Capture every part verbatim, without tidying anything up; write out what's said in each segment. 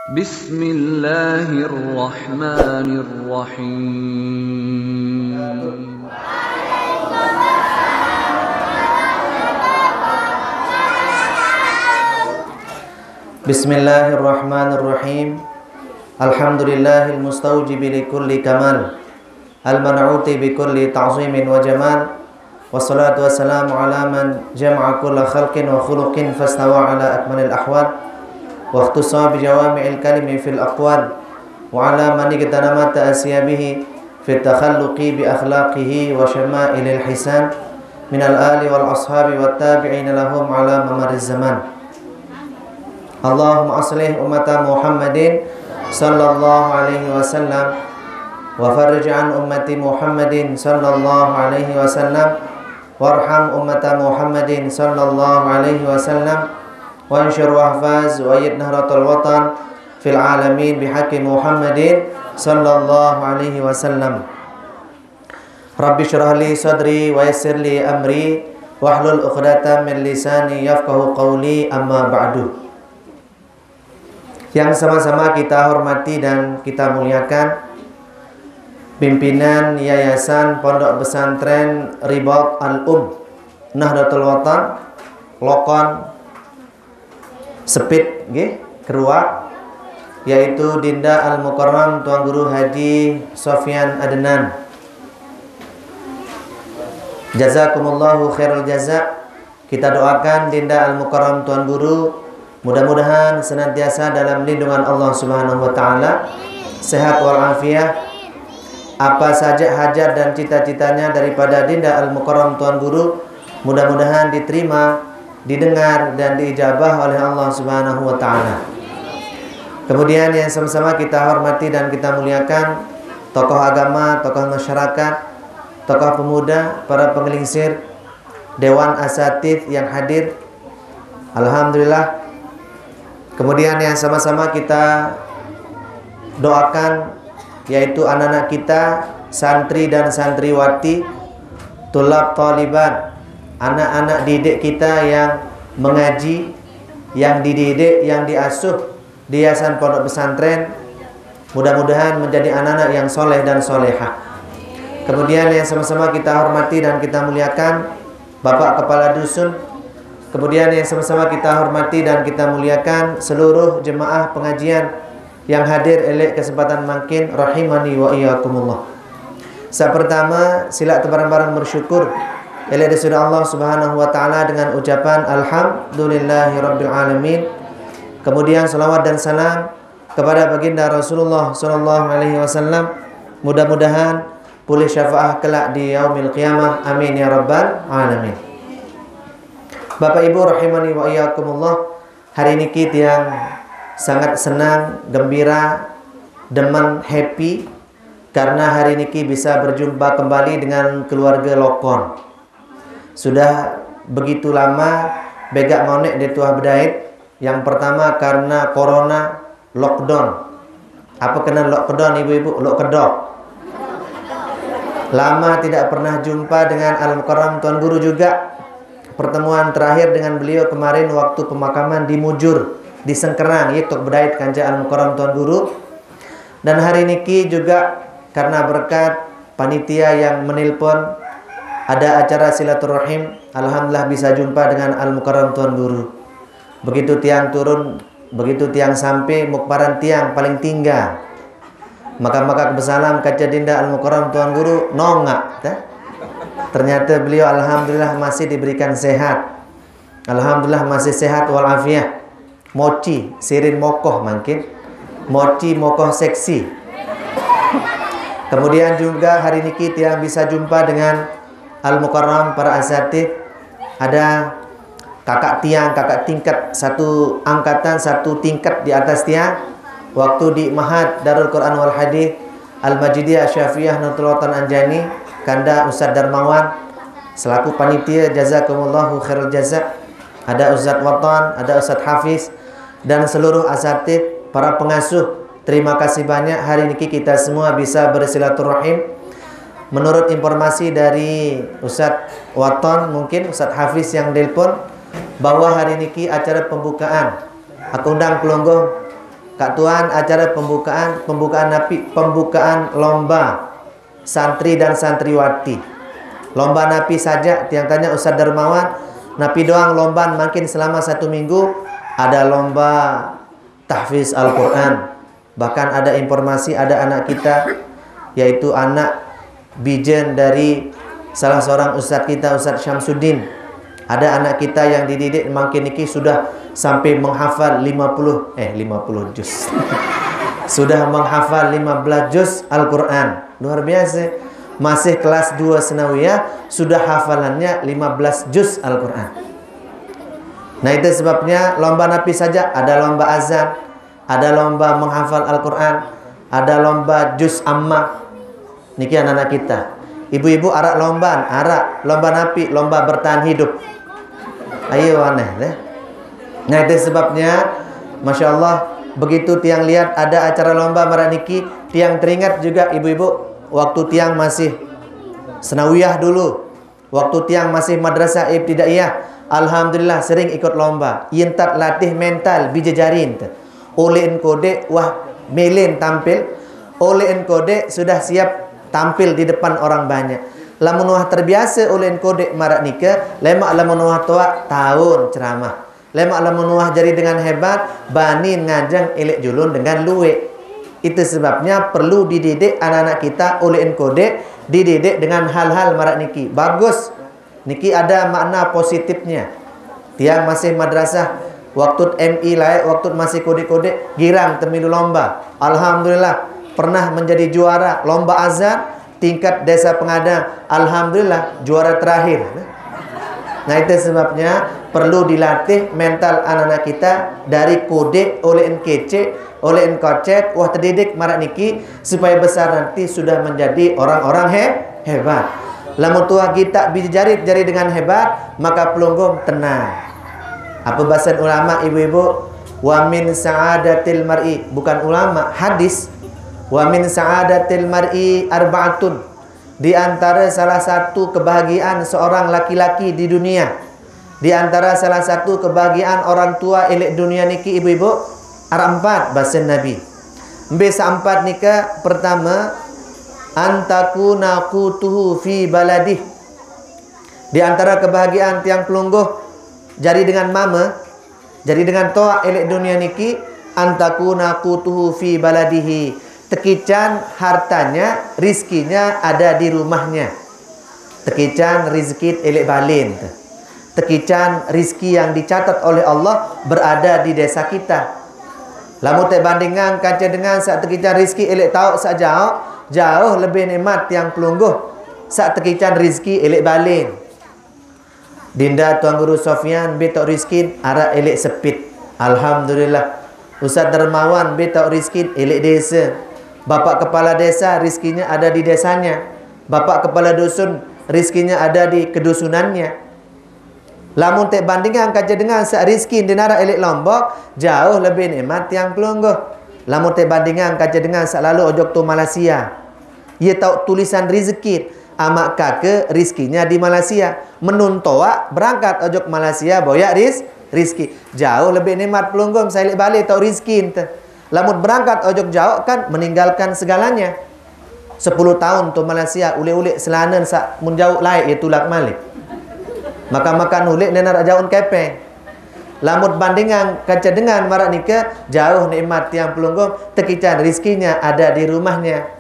بسم الله الرحمن الرحيم. بسم الله الرحمن الرحيم. الحمد لله المستوجب لكل كمال، المنعوت بكل تعظيم وجمال، والصلاة والسلام على من جمع كل خلق وخلق فاستوى على أكمل الأحوال، واختص بجوامع الكلم في الأقوال، وعلى من اغتنمت أسيابه في التخلق بأخلاقه وشمائل الحسان، من الآل والأصحاب والتابعين لهم على ممر الزمان. اللهم أصلح أمة محمد صلى الله عليه وسلم، وفرج عن أمة محمد صلى الله عليه وسلم، وارحم أمة محمد صلى الله عليه وسلم، وانشر واحفظ وأيد نهضة الوطن في العالمين بحق محمد صلى الله عليه وسلم. رب اشرح لي صدري ويسر لي أمري واحلل عقدة من لساني يفقهوا قولي، أما بعد. Yang sama-sama kita hormati dan kita muliakan, pimpinan Yayasan Pondok Pesantren Ribat Al-Um Nahdlatul Watan, Lokon, Sepit, nggih, Keruak, yaitu Dinda Al Mukarram Tuan Guru Haji Sofyan Adnan. Jazakumullahu khairal jaza. Kita doakan Dinda Al Mukarram Tuan Guru mudah-mudahan senantiasa dalam lindungan Allah Subhanahu wa taala, sehat walafiat. Apa saja hajat dan cita-citanya daripada Dinda Al Mukarram Tuan Guru, mudah-mudahan diterima, didengar, dan diijabah oleh Allah Subhanahu wa taala. Kemudian yang sama-sama kita hormati dan kita muliakan, tokoh agama, tokoh masyarakat, tokoh pemuda, para pengelingsir, dewan asatidz yang hadir. Alhamdulillah. Kemudian yang sama-sama kita doakan, yaitu anak-anak kita, santri dan santriwati, tulab talibat, anak-anak didik kita yang mengaji, yang dididik, yang diasuh di Yayasan Pondok Pesantren, mudah-mudahan menjadi anak-anak yang soleh dan solehah. Kemudian yang sama-sama kita hormati dan kita muliakan, Bapak Kepala Dusun. Kemudian yang sama-sama kita hormati dan kita muliakan seluruh jemaah pengajian yang hadir eleq kesempatan mangkin, rahimani wa iyyakumullah. Saq pertama, silaq tebareng-bareng bersyukur eleq Deside Allah Subhanahu wa taala dengan ucapan alhamdulillahirabbil alamin. Kemudian selawat dan salam kepada baginda Rasulullah sallallahu alaihi wasallam. Mudah-mudahan pulih syafaah kelak di yaumil qiyamah. Amin ya rabbal alamin. Bapak Ibu rahimani wa iyyakumullah, hari niki tiang sangat senang, gembira, demen, happy karena hari niki bisa berjumpa kembali dengan keluarga Lokon. Sudah begitu lama begaq ngoneq dait tuah bedait. Yang pertama karena corona, lockdown. Apa kenen lockdown, ibu-ibu? Lock kedok. Lama tidak pernah jumpa dengan Al Mukarram Tuan Guru juga. Pertemuan terakhir dengan beliau kemarin waktu pemakaman di Mujur, di Sengkerang, yaitu bedait kance Al Mukarram Tuan Guru. Dan hari niki juga karena berkat panitia yang menelpon, ada acara silaturahim, alhamdulillah bisa jumpa dengan Al Mukarram Tuan Guru. Begitu tiang turun, begitu tiang sampai, mukparan tiang paling tinggal. Maka-maka besalam kance Dinda Al Mukarram Tuan Guru, nongaq, tah. Ternyata beliau alhamdulillah masih diberikan sehat. Alhamdulillah masih sehat walafiat. Moci, sirin mokoh mangkin. Moci mokoh seksi. Kemudian juga hari niki tiang bisa jumpa dengan Al Mukarram, para asatidz. Ada kakak tiang, kakak tingkat, satu angkatan, satu tingkat di atas tiang. Waktu di Mahat Darul Quran wal Hadis Al Majidiyah Syafi'iyah Nahdlatul Watan Anjani, kanda Ustaz Darmawan selaku panitia, jazakumullahu khairal jaza. Ada Ustaz Watan, ada Ustaz Hafiz, dan seluruh asatidz, para pengasuh. Terima kasih banyak, hari niki kita semua bisa bersilaturahim. Menurut informasi dari Ustaz Watan, mungkin Ustaz Hafiz yang nelpon, bahwa hari niki acara pembukaan. Aku undang pelungguh Kak Tuan, acara pembukaan, pembukaan napi, pembukaan lomba santri dan santriwati. Lomba napi saja, tiang tanya Ustaz Darmawan, napi doang lomba makin selama satu minggu, ada lomba tahfiz Al-Quran. Bahkan ada informasi, ada anak kita, yaitu anak bijen dari salah seorang ustaz kita, Ustaz Syamsuddin. Ada anak kita yang dididik makin niki sudah sampai menghafal lima puluh, eh, lima puluh juz. Sudah menghafal lima belas juz Al-Quran. Luar biasa. Masih kelas dua sanawiyah, sudah hafalannya lima belas juz Al-Quran. Nah, itu sebabnya lomba napi saja, ada lomba azan, ada lomba menghafal Al-Quran, ada lomba juz amma. Niki anak-anak kita. Ibu-ibu arak lomba, arak lomba napi, lomba bertahan hidup. Ayo aneh deh. Nah, itu sebabnya, Masya Allah, begitu tiang lihat ada acara lomba marak niki, tiang teringat juga ibu-ibu, waktu tiang masih sanawiyah dulu, waktu tiang masih madrasah ibtidaiyah, alhamdulillah sering ikut lomba. Yentat latih mental bija jarin tu. Oleh engko dek wah melen tampil, oleh engko dek sudah siap tampil di depan orang banyak. Lamun wah terbiasa oleh engko dek marak nika, lemak lamun wah toak taun ceramah. Lemak lamun wah jadi dengan hebat, bani nganjang elek julun dengan luek. Itu sebabnya perlu dididik anak-anak kita oleh engko dek, dididik dengan hal-hal marak niki. Bagus. Niki ada makna positifnya. Tiang masih madrasah, waktu M I lae, waktu masih kodek-kodek, girang temilu lomba. Alhamdulillah, pernah menjadi juara lomba azan tingkat desa Pengadang. Alhamdulillah, juara terakhir. Nah, itu sebabnya perlu dilatih mental anak-anak kita dari kodek oleh kecek, oleh kocet, wah terdidik marak niki, supaya besar nanti sudah menjadi orang-orang he, hebat. Lamun tuah kita bija jarit jari dengan hebat, maka pelungguh tenang. Apa bahasan ulama, ibu-ibu? Wa min sa'adatil mar'i, bukan ulama, hadis. Wa min sa'adatil mar'i arba'atun. Di antara salah satu kebahagiaan seorang laki-laki di dunia, di antara salah satu kebahagiaan orang tua elek dunia niki, ibu-ibu, arak empat bahasan Nabi. Mbe sa empat nika? Pertama, antakuna qutuhu fi baladih. Di antara kebahagiaan tiang pelungguh jari dengan mama, jari dengan toak elek dunia niki, antakuna qutuhu fi baladihi. Tekican hartanya, rizkinya ada di rumahnya. Tekican rizki elek balen tu. Tekican rizki yang dicatat oleh Allah berada di desa kita. Lamun tek bandingan kaca dengan sak tekican rizki elek tauk sak jauk, jauh lebih nikmat tiang pelungguh sak tekican rizki elek balen. Dinda Tuan Guru Sofyan betok rizki arak elek sepit. Alhamdulillah. Ustaz Dermawan betok rizki elek desa. Bapak kepala desa rizkinya ada di desanya. Bapak kepala dusun rizkinya ada di kedusunannya. Lamun tek bandingan kaca dengan sak rizki di narak elek Lombok, jauh lebih nikmat tiang pelungguh. Lamun tek bandingan kaca dengan sak lalu ojok tu Malaysia. Ia tauk tulisan rizki, amak kaka rizkinya di Malaysia. Menun toak berangkat ojok Malaysia boyak riz, rizki. Jauh lebih nikmat pelungguh sak elek balen tauk rizki ente. Lamun berangkat ojok jauk kan meninggalkan segalanya. Sepuluh tahun tu Malaysia, ulek-ulek selana sak mun jauk laik ia tulak malik. Makan-makan ulek nenar jaun kepeng. Lamun bandingan kaca dengan marak nika, jauh nikmat tiang pelungguh, tekican rizkinya ada di rumahnya.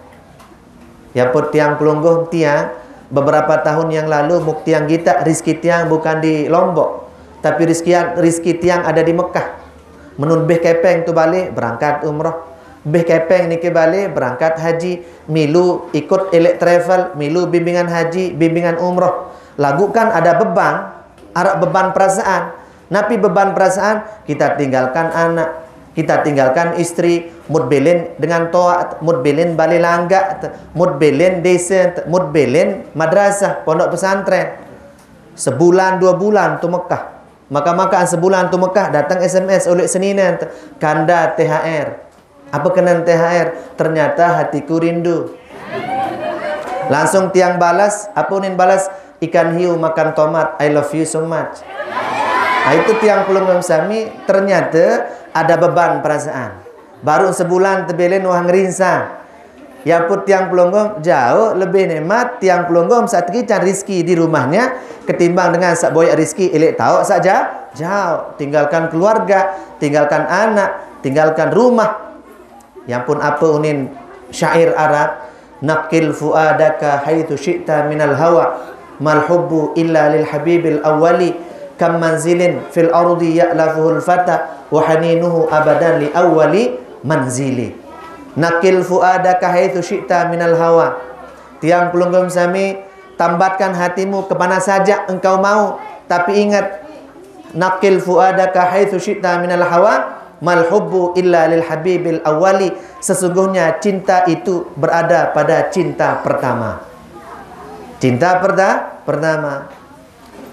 Ya put tiang pelungguh tiang, beberapa tahun yang lalu muk tiang gitak rizki tiang bukan di Lombok, tapi rizki, rizki tiang ada di Mekah. Menun beh kepeng tu balik, berangkat umroh. Beh kepeng niki balik, berangkat haji. Milu ikut elek travel, milu bimbingan haji, bimbingan umroh. Lagu kan ada beban, arak beban perasaan. Napi beban perasaan? Kita tinggalkan anak, kita tinggalkan istri, mut belen dengan toak, mut belen bale langgak, mut belen desa, mut belen madrasah, pondok pesantren. Sebulan dua bulan tu Mekah. Maka-maka sebulan tu Mekah datang S M S oleh senina, kanda T H R. Apa kena T H R? Ternyata hatiku rindu. Langsung tiang balas, apa unin balas? Ikan hiu makan tomat, I love you so much. Nah, itu tiang pelungguh sami ternyata ada beban perasaan. Baru sebulan tebelen wah ngerinsang. Ya pun tiang pelungguh jauh lebih nikmat tiang pelungguh saq tekican rizki di rumahnya ketimbang dengan saq boyaq rizki eleq taoq saq ja-, jauh. Tinggalkan keluarga, tinggalkan anak, tinggalkan rumah. Ya pun apa unin syair Arab, "Naqil fuadaka haitsu syi'ta minal hawa, mal hubbu illa lil habibil awwali, kam manzilin fil ardi ya'lafuhul fata, wa haninuhu abadan li awwali manzili." "Naqil fuadaka haitsu syi'ta minal hawa." Tiang pelungguh sami, tambatkan hatimu ke mana saja engkau mau, tapi ingat, "Naqil fuadaka haitsu syi'ta minal hawa, mal hubbu illa lil habibil awwali." Sesungguhnya cinta itu berada pada cinta pertama. Cinta perta-, pertama.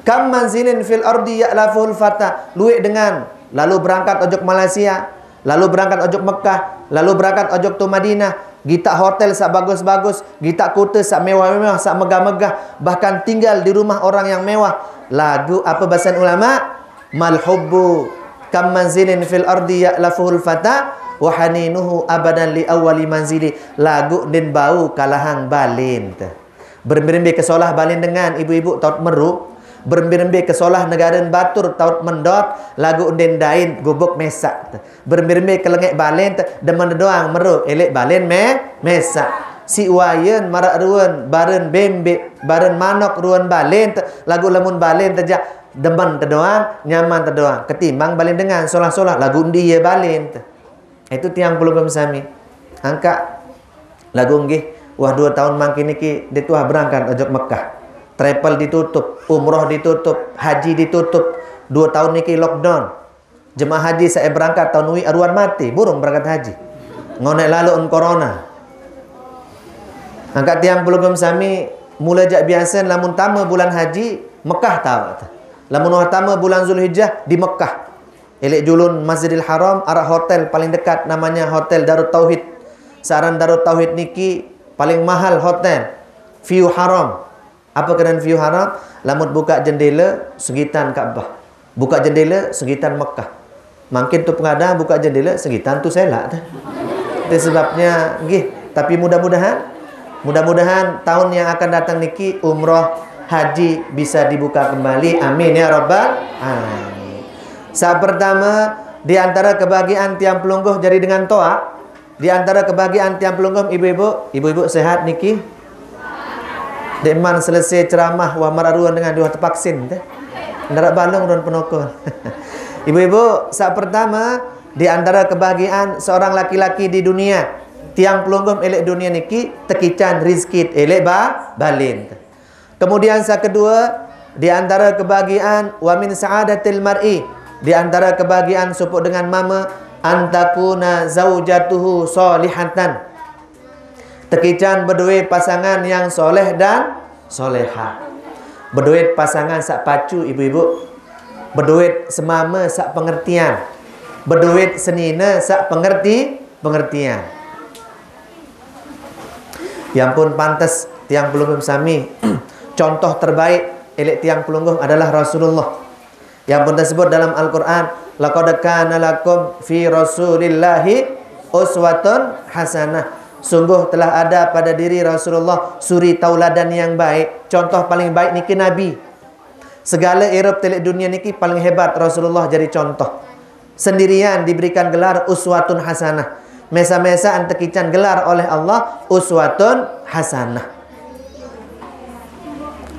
"Kam manzilin fil ardi ya'lafuhul fata." Lueq dengan, lalu berangkat ojok Malaysia, lalu berangkat ojok Mekah, lalu berangkat ojok tu Madinah, gitaq hotel saq bagus-bagus, gitaq kute saq mewah-mewah, saq megah-megah, bahkan tinggal di rumah orang yang mewah. Laguq apa basen ulama? "Mal hubbu kam manzilin fil ardi ya'lafuhul fata, wa haninuhu abadan li awwali manzili." Laguq ndin bau kalahang balen te. Berembe-rembe ke solah balen dengan ibu-ibu taut meru. Berembe-rembe ke solah negaren batur taut mendot, laguq ndin dain gubuk mesaq te. Berembe-rembe ke lengeq balen te, demen te doang meru, eleq balen me-, mesaq. Siq wayen maraq ruen baren bembeq, baren manok ruen balen te, laguq lemun balen te jaq demen te doang, nyaman te doang. Ketimbang balen dengan solah-solah, laguq ndi ie balen te. Itu tiang pelungguh sami. Angkaq laguq nggih, wah due taun mangkin niki ndeq tuah berangkat ojok Mekah. Travel ditutup, umroh ditutup, haji ditutup. Due taun niki lockdown. Jemaah haji saq berangkat taun uiq aruan mate, burung berangkat haji. Ngoneq lalo en corona. Angkaq tiang pelungguh sami, mule jaq biasen lamun tame bulan haji, Mekah taoq. Lamun wah tame bulan Zulhijjah, di Mekah. Eleq julun Masjidil Haram, araq hotel paling dekat, namanya Hotel Darut Tauhid. Saq aran Darut Tauhid niki paling mahal hotel. View haram. Apa kenan view haram? Lamun bukaq jendele, segitan Ka'bah. Bukaq jendele, segitan Mekah. Mangkin tu pengadang bukaq jendele, segitan tu selaq te. Itu sebabnya, nggih. Tapi mudah-mudahan, mudah-mudahan tahun yang akan datang niki umroh haji bisa dibuka kembali. Amin ya rabbal alamin. Saq pertame, di antara kebahagiaan tiang pelungguh jari dengan toaq, di antara kebahagiaan tiang pelungguh ibu-ibu, ibu-ibu sehat niki? Ndeqman selese ceramah, wah maraq ruen dengan diwah tevaksin te. Ndaraq balung ruen penokol. Ibu-ibu, saq pertame, di antara kebahagiaan seorang laki-laki di dunia, tiang pelungguh eleq dunia niki, tekican rizki eleq ba-, balen. Kemudian saq kedue, di antara kebahagiaan wa min sa'adatil mar'i, di antara kebahagiaan sopoq dengan mame, antakuna zaujatuhu solihatan. Tekican bedoe pasangan yang soleh dan solehah. Bedoe pasangan saq pacu, ibu-ibu. Bedoe semame saq pengertian. Bedoe senine saq pengerti-, pengertian. Ya ampun, pantes tiang pelungguh sami. Contoh terbaik eleq tiang pelungguh adalah Rasulullah. Ya ampun, tersebut dalam Al-Quran, "Laqad kana lakum fi Rasulillahi uswatun hasanah." Sungguh telah ada pada diri Rasulullah suri tauladan yang baik. Contoh paling baik niki Nabi. Segale irup teleq dunia niki paling hebat Rasulullah jari contoh. Sendirian diberikan gelar uswatun hasanah. Mesa-mesaan tekican gelar oleh Allah uswatun hasanah.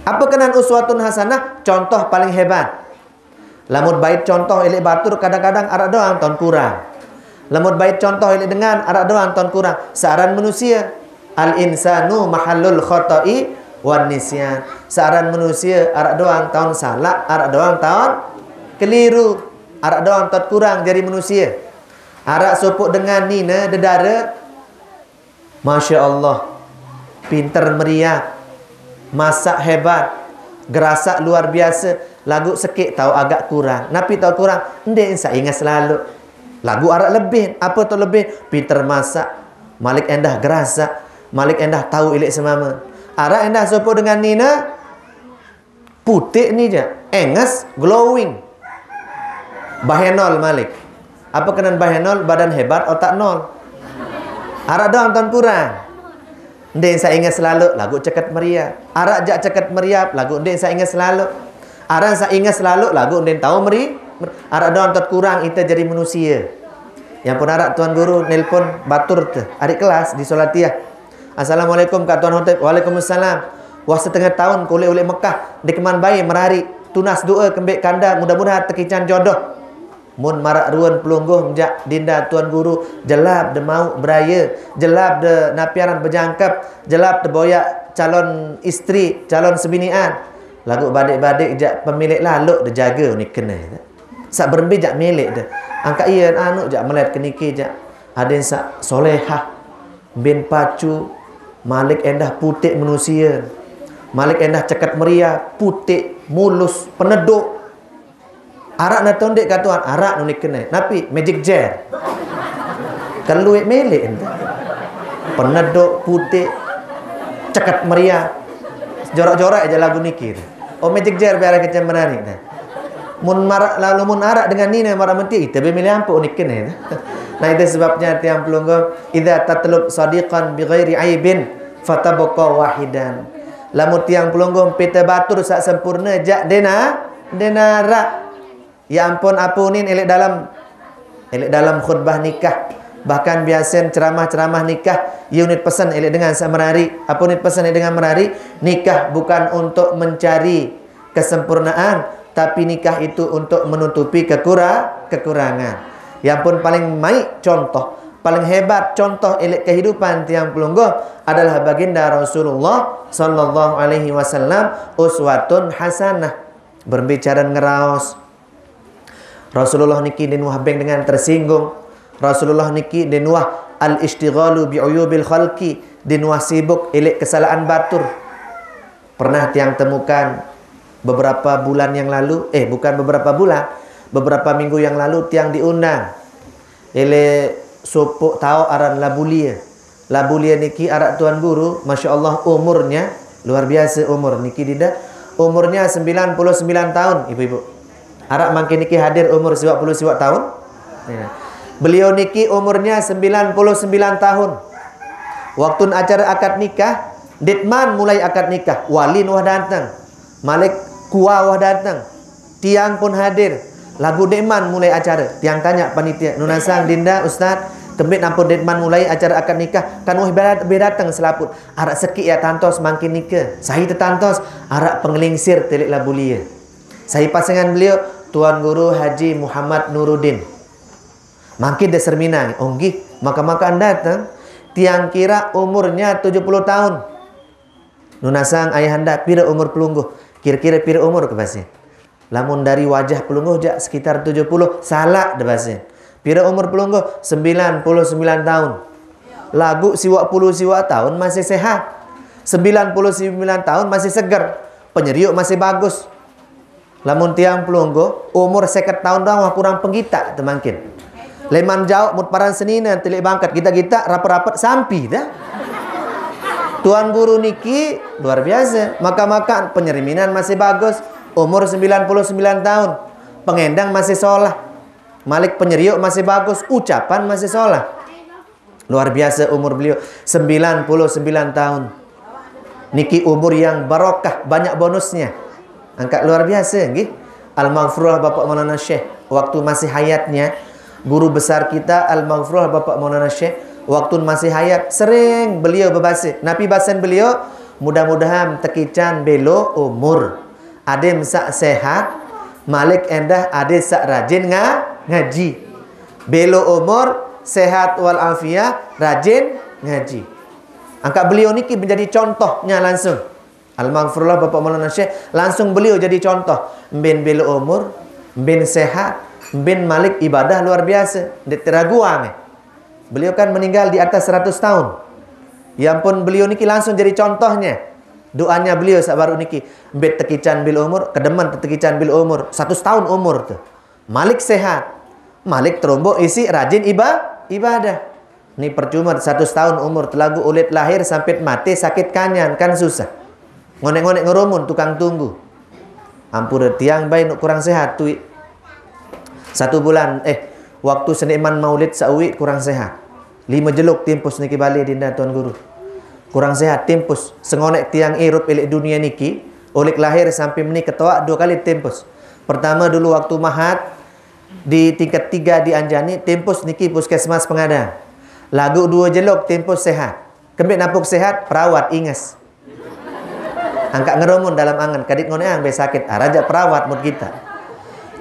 Apa kenan uswatun hasanah? Contoh paling hebat. Lamun bait contoh eleq batur kadang-kadang araq doang taun kurang. Lamun bait contoh eleq dengan araq doang taun kurang. Saq aran manusie. Al insanu mahallul khoto'i wan nisyan. Saq aran manusie araq doang taun salaq, araq doang taun keliru, araq doang taun kurang jari manusie. Araq sopoq dengan nine dedare, Masya Allah, pinter meriak, masak hebat, gerasak luar biasa, laguq sekeq taoq agak kurang. Napi taoq kurang? Ndeq saq inget selalu. Laguq araq lebih. Apa taoq lebih? Pinter masak, malik endah gerasak, malik endah taoq ileq semame. Araq endah sopoq dengan nine, puteq ni jaq, enges, glowing. Bahenol malik. Apa kenen bae nol, badan hebat, otak nol. Arak doang ton kurang. Ndin sa inget selalu, lagu ceket meriap. Arak jak ceket meriap, lagu ndin sa inget selalu. Aran sa inget selalu, lagu ndin tahu meri. Arak doang tot kurang ite jadi manusia. Yang pun arak Tuan Guru nelpon batur te, adik kelas di Solatiah. "Assalamualaikum, Kak Tuan Hotep." "Waalaikumsalam." "Wah, setengah tahun kulik-ulik Mekah, di keman bayi merari. Tunas doa kembik kanda, mudah-mudahan tekican jodoh." Mun marak ruan pelungguh jak dinda Tuan Guru, jelap de mau beraya, jelap de napiaran bejangkep, jelap de boyak calon istri, calon sebinian. Lagu badik-badik jak pemilik laluk de jaga unik kene. Sak berembe jak milik de. Angkat iya anu jak melet ke niki jak. Adin sak solehah, bin pacu, malik endah putik manusia. Malik endah ceket meriah, putik, mulus, peneduk. Arak na tondek ka Tuan, arak nunik kene. Napi? Magic jar. Keluik milik ente. Peneduk putik, ceket meriah. Jorak-jorak aja lagu niki. Oh, magic jar biar kecil menarik. Mun marak, lalu mun arak dengan nina marak menti, ite be milih ampo unik kene. Nah, itu sebabnya tiang pelungguh, idza tatlub sadiqan bi ghairi aibin, fatabqa wahidan. Lamun tiang pelungguh pite batur sak sempurna jak dena, dena rak. Ya ampun, apunin elek dalam, elek dalam khutbah nikah. Bahkan biasen ceramah-ceramah nikah, unit pesan elek dengan sak merari. Apunit pesan elek dengan merari, nikah bukan untuk mencari kesempurnaan, tapi nikah itu untuk menutupi kekura-, kekurangan. Yang pun paling baik contoh, paling hebat contoh elek kehidupan tiang pelungguh adalah baginda Rasulullah sallallahu alaihi wasallam, uswatun hasanah. Berbicara ngeraos, Rasulullah niki din wah beng dengan tersinggung. Rasulullah niki din wah al-istighalu bi uyubil khalqi, din wah sibuk elek kesalahan batur. Pernah tiang temukan beberapa bulan yang lalu, eh, bukan beberapa bulan, beberapa minggu yang lalu tiang diundang ele sopok tau aran Labulia. Labulia niki arak Tuan Guru, masya Allah, umurnya luar biasa umur niki dinda. Umurnya sembilan puluh sembilan tahun, ibu-ibu. Arak mangkin niki hadir umur siwak puluh siwak tahun. Ya. Beliau niki umurnya sembilan puluh sembilan tahun. Waktu acara akad nikah, ditman mulai akad nikah, wali wah datang. Malik kua wah datang. Tiang pun hadir. Lagu ditman mulai acara. Tiang tanya panitia, "Nunasang, dinda, ustaz, kembit ampun ditman mulai acara akad nikah? Kan wah berat-, beratang selaput." "Arak sekik ya tantos mangkin nika." Sai tetantos, arak pengelingsir tilik Labulia. Sai pasangan beliau, Tuan Guru Haji Muhammad Nuruddin. Mangkin de serminang, "Onggih, maka-makaan datang." Tiang kira umurnya tujuh puluh tahun. "Nunasang ayahanda, pira umur pelungguh?" "Kira-kira pira umur ke basi?" "Lamun dari wajah pelungguh jak sekitar tujuh puluh." "Salah de basi." "Pira umur pelungguh?" "Sembilan puluh sembilan tahun." "Lagu siwak puluh siwak tahun masih sehat. Sembilan puluh sembilan tahun masih seger. Penyeriuk masih bagus." Lamun tiang pelungguh, umur seket tahun doang wah kurang penggitak tu mangkin. Leman jauh mut paran senina tilik bangkat, gitak-gitak, rapet-rapet, sampi dah. Tuan Guru niki luar biasa. Maka-maka penyeriminan masih bagus, umur sembilan puluh sembilan tahun. Pengendang masih solah. Malik penyeriuk masih bagus, ucapan masih solah. Luar biasa umur beliau, sembilan puluh sembilan tahun. Niki umur yang barokah, banyak bonusnya. Angkat luar biasa, nggih. Almaghfurullah Bapak Maulana Syekh, waktu masih hayatnya, guru besar kita, Almaghfurullah Bapak Maulana Syekh, waktu masih hayat, sering beliau berbasa. Napi basan beliau? "Mudah-mudahan tekican belo umur. Adin sak sehat, malik endah adin sak rajin nga-, ngaji. Belo umur, sehat wal afiah, rajin ngaji." Angkat beliau niki menjadi contohnya langsung. Almaghfurullah Bapak Maulana Syekh, langsung beliau jadi contoh. Mbin belo umur, mbin sehat, mbin malik ibadah luar biasa. Ndeq teraguang, eh. Beliau kan meninggal di atas seratus tahun. Ya ampun, beliau niki langsung jadi contohnya. Doanya beliau sak baru niki, "Mbit tekican bil umur, kedemen tekican bil umur, seratus tahun umur tu. Malik sehat, malik terombok isi rajin iba-, ibadah." Ni percuma seratus tahun umur telagu ulit lahir sampai mati sakit kanyan, kan susah. Ngonek-ngonek ngerumun tukang tunggu. Ampura tiang bae nuk kurang sehat tui. Satu bulan, eh, Waktu senikman maulid sauik kurang sehat. Lima jeluk timpus niki balik dinda Tuan Guru. Kurang sehat timpus. Sengonek tiang irup ilik dunia niki, ulik lahir sampai meni ketoak dua kali timpus. Pertama dulu waktu mahat, di tingkat tiga di Anjani, timpus niki puskesmas pengadang. Lagu dua jeluk timpus sehat. Kembik napuk sehat, perawat inges. Angkat ngeromun dalam angan, kadit ngoneang be sakit, ah, rajak perawat mut kita.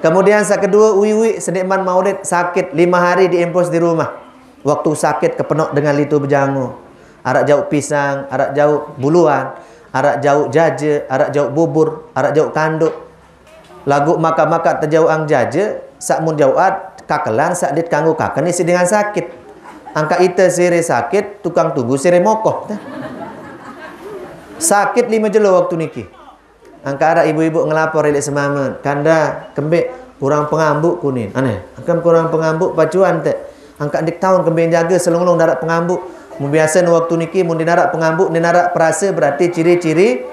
Kemudian sak kedua, uiwi senikman maulid sakit lima hari diimpus di rumah. Waktu sakit kepenok dengan litu bejango. Arak jauk pisang, arak jauk buluan, arak jauk jaje, arak jauk bubur, arak jauk kanduk. Lagu maka-maka tejauang jaje, sak mun jauat kakelan, sak dit kanggo kaken isi dengan sakit. Angka ite sire sakit, tukang tunggu sire mokoh. Sakit lima jelo waktu niki. Angka ada ibu-ibu ngelapor ilik semamen, kanda kembik kurang pengambuk kunin. Aneh, akan kurang pengambuk pacuan te. Angka dik tahun kembik jaga selunglung darat pengambuk. Mun biasa nu waktu niki mun dinarak pengambuk, dinarak perasa berarti ciri-ciri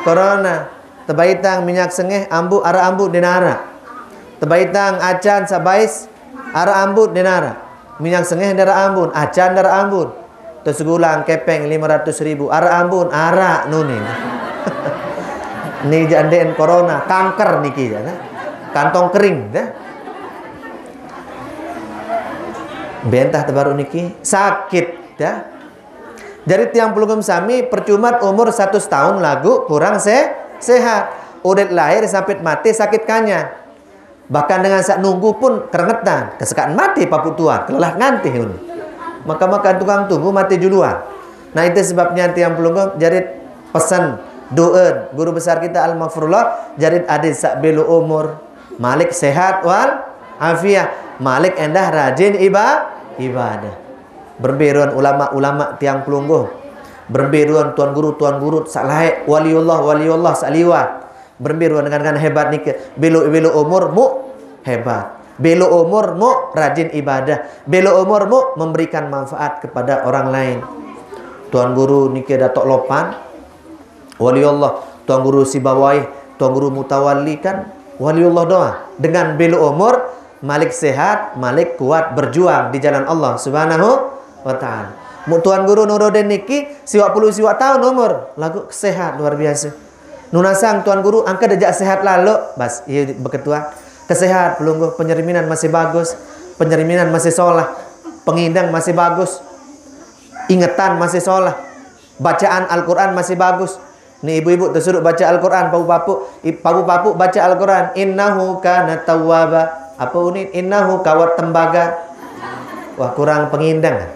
corona. Tebaitang minyak sengeh ambu ara ambu denara. Tebaitang acan sabais ara ambu denara. Minyak sengeh dara ambun, acan dara ambun. Terus gulang kepeng lima ratus ribu, ara ambun, ara nuni. Ni janden corona, kanker niki jana. Kantong kering dah. Bentah terbaru niki sakit dah. Jadi tiang pelungguh sami percuma umur satu tahun lagu kurang se sehat. Udah lahir sampai mati sakit kanya. Bahkan dengan sak nunggu pun kerengetan, kesekaan mati papuk tuan, kelelah ngantih un. Maka-maka tukang tunggu mati juluan. Nah, itu sebabnya tiang pelungguh jadi pesan doa guru besar kita Al-Maghfurullah, jadi adil sak belo umur, malik sehat wal afiah, malik endah rajin iba ibadah. Berembe ruan ulama-ulama tiang pelungguh. Berembe ruan tuan guru, tuan guru sak laek, waliullah, waliullah sak liwat. Berembe ruan dengan-dengan hebat nike. Belo-belo umur mu hebat. Belo umur mu rajin ibadah. Belo umur mu memberikan manfaat kepada orang lain. Tuan guru nike Datuk Lopan, waliullah, tuan guru Sibawai, tuan guru Mutawalli kan waliullah doa. Dengan belo umur, malik sehat, malik kuat berjuang di jalan Allah Subhanahu wa taala. Mu tuan guru Nuruddin niki siwak puluh siwak tahun umur, lagu sehat luar biasa. Nunasang tuan guru angka dejak sehat lalu, bas, iya beketua. Kesehat pelungguh, penyerminan masih bagus, penyerminan masih solah, pengindang masih bagus, ingetan masih solah, bacaan Al-Quran masih bagus. Ni ibu-ibu tersuruh baca Al-Quran, papu-papu, i- papu-papu baca Al-Quran. Innahu kana tawwaba. Apa unin? Innahu kawat tembaga. Wah, kurang pengindang.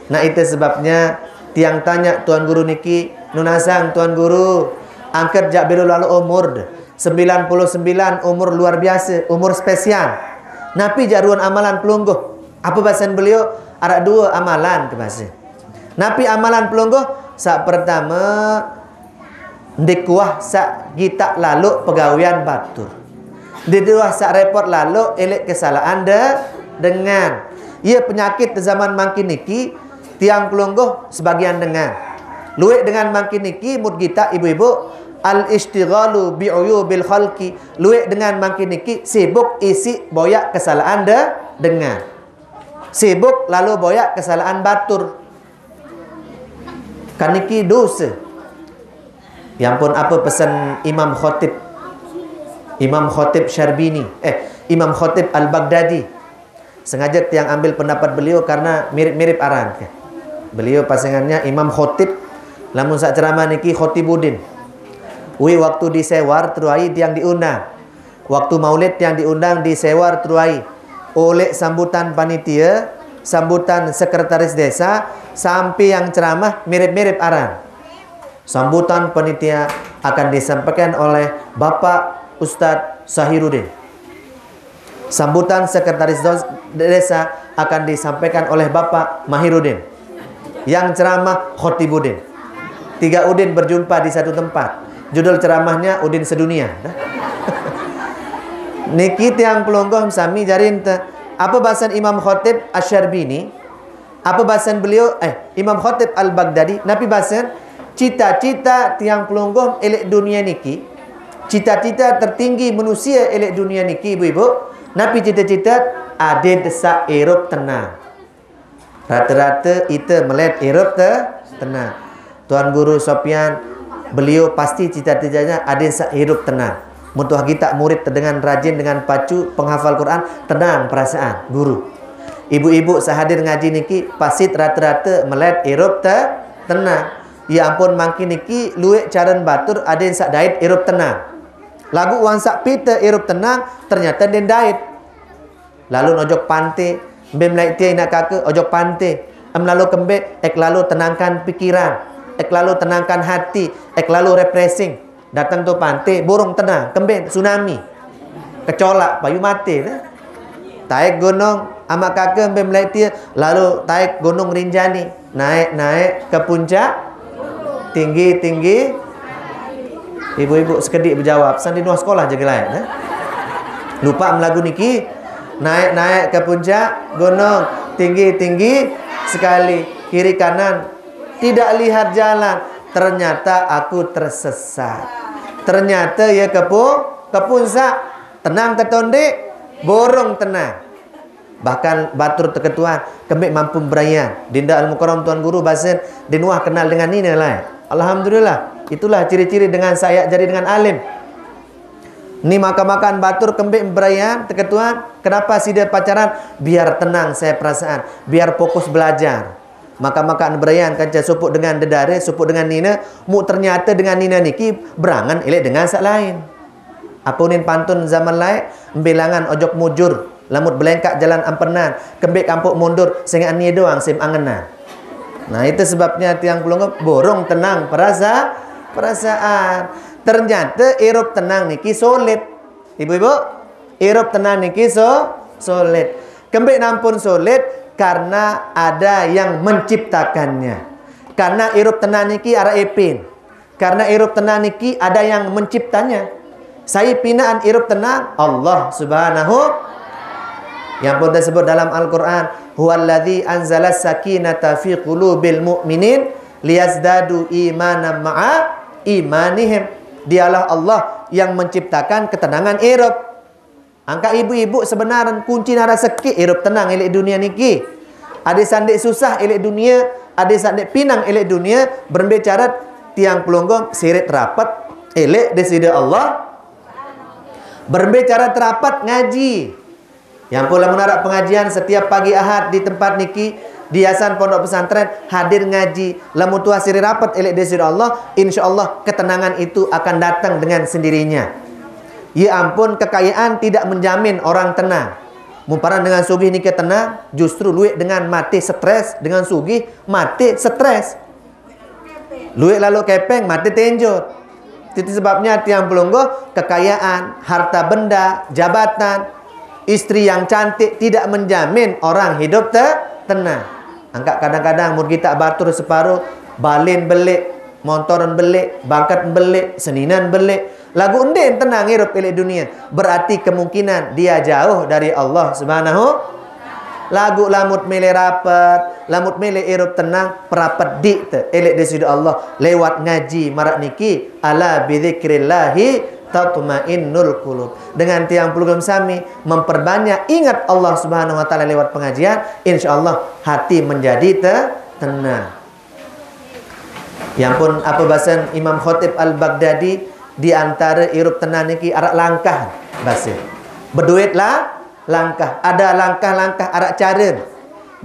Nah, itu sebabnya tiang tanya tuan guru niki, nunasang tuan guru, angkat jak belo lalu umur de. Sembilan puluh sembilan umur luar biasa, umur spesial. Napi jak ruan amalan pelungguh? Apa bahasan beliau? Arak dua amalan ke bahasa. Napi amalan pelungguh? Sak pertama, ndikuah sak gitak lalu pegawian batur. Ndikuah sak repot lalu elek kesalahan de dengan. Ia penyakit zaman mangkin niki, tiang pelungguh sebagian dengan. Luek dengan mangkin niki, mut gitak ibu-ibu, al-istighalu bi'uyubil khalqi. Luek dengan mangkin niki, sibuk isi boyak kesalahan de dengan. Sibuk lalu boyak kesalahan batur. Kaniki dosa. Ya ampun, apa pesan Imam Khatib? Imam Khatib Syarbini, eh, Imam Khatib Al-Baghdadi. Sengaja tiang ambil pendapat beliau karena mirip-mirip aran. Beliau pasangannya Imam Khatib, lamun sak ceramah niki Khatibuddin. Wi waktu di Sewar Truai tiang diundang. Waktu maulid tiang diundang di Sewar Truai. Oleh sambutan panitia, sambutan sekretaris desa, sampai yang ceramah mirip-mirip aran. Sambutan panitia akan disampaikan oleh Bapak Ustadz Sahirudin. Sambutan sekretaris dos- desa akan disampaikan oleh Bapak Mahirudin. Yang ceramah Khotibudin. Tiga Udin berjumpa di satu tempat. Judul ceramahnya Udin Sedunia. Niki tiang pelungguh sami jarin te. Apa bahasan Imam Khotib Asyarbini? Apa bahasan beliau? Eh, Imam Khatib Al-Baghdadi, napi bahasan? Cita-cita tiang pelungguh elek dunia niki, cita-cita tertinggi manusia elek dunia niki, ibu-ibu, Napi cita-cita? Adin saq irup tenang. Rata-rata ite melet irup te tenang. Tuan Guru Sopian, beliau pasti cita-citanya adin saq irup tenang. Mun tuah gitaq murid dengan rajin, dengan pacu, penghafal Quran, tenang perasaan guru. Ibu-ibu saq hadir ngaji niki, pasti rata-rata melet irup te tenang. Ya ampun, mangkin niki lueq caren batur adin saq dait irup tenang. Laguq wangsak pite irup tenang, ternyata ndeqn dait. Lalo ojok pante, mbe melaeq tie inaq kake ojok pante. Em lalo kembeq, ek lalo tenangkan pikiran, ek lalo tenangkan hati, ek lalo refreshing. Dateng to pante, borong tenang, kembeq tsunami. Kecolaq, payu mate deh. Taek gunung, amaq kake mbe melaeq tie, lalo taek Gunung Rinjani. Naek-naek ke puncak, tinggi-tinggi. Ibu-ibu sekediq bejawab, sandi nuah sekolah jage laeq, eh? Lupaq melagu niki, naek-naek ke puncak gunung, tinggi-tinggi sekali, kiri kanan, tidak lihat jalan. Ternyata aku tersesat. Ternyata ya kepu-, kepunsaq. Tenang tetondeq, borong tenang. Bahkan batur teketuan, kembeq mampu berayan. Dinda Al-Mukarram Tuan Guru basen, ndeqn uah kenal dengan nine laeq. Alhamdulillah, itulah ciri-ciri dengan saq yaq jari dengan alim. Ni makan-makan batur kembeq berayan, teketuan, kenapa side pacaran? Biar tenang saya perasaan, biar fokus belajar. Makan-makan berayan kance sopoq dengan dedare, sopoq dengan nine, muq ternyate dengan nine niki berangen eleq dengan saq lain. Ape unin pantun zaman laeq, mbe langan ojok mujur, lamun belengkaq jalan ampenan, kembeq kampoq mundur, sengaq nie doang sim angenan. Nah, itu sebabnya tiang pelungguh borong tenang perasa-, perasaan. Ternyate irup tenang niki sulit. Ibu-ibu, irup tenang niki su-, sulit. Kembeq nampun sulit? Karena ada yang menciptakannya. Karena irup tenang niki araq epin. Karena irup tenang niki ada yang menciptanya. Sai pinaqan irup tenang? Allah Subhanahu. Yang pun tersebut dalam Al-Quran, "Huwallazi anzala sakinata fi qulubil mu'minin liyazdadu imanan ma'a imanihim." Dialah Allah yang menciptakan ketenangan irup. Angkaq ibu-ibu sebenarn kunci nara sekeq irup tenang eleq dunie niki. Adeq saq ndeq susah eleq dunie, adeq saq ndeq pinang eleq dunie, berembe care tiang pelungguh sirit rapet eleq Deside Allah? Berembe care terapet? Ngaji. Ya ampun, lamun araq pengajian setiap pagi Ahad di tempat niki, di yayasan pondok pesantren, hadir ngaji. Lamun tuah sirit rapet eleq Deside Allah, insya Allah ketenangan itu akan datang dengan sendirinya. Ya ampun, kekayaan tidak menjamin orang tenang. Mun paran dengan sugih nike tenang, justru lueq dengan mate stres, dengan sugih mate stres. Lueq lalo kepeng, mate tenjot. Itu sebabnya tiang pelungguh, kekayaan, harta benda, jabatan, istri yang cantik tidak menjamin orang hidup te-, tenang. Angkaq kadang-kadang mun gitaq batur separo, balen beleq, montoran beleq, bangket beleq, seninan beleq, laguq ndeqn tenang irup eleq dunie, berarti kemungkinan dia jauh dari Allah Subhanahu. Laguq lamun mele rapet, lamun mele irup tenang, perapet diq te eleq Deside Allah lewat ngaji maraq niki, "Ala bidzikrillahi tatmainnul qulub." Dengan tiang pelungguh sami memperbanyak ingat Allah Subhanahu wa Ta'ala lewat pengajian, insya Allah hati menjadi te-, tenang. Ya ampun, ape basen Imam Khatib Al-Baghdadi, di antare irup tenang niki araq langkah, base. Bedoe la-, langkah, ada langkah-langkah, araq care.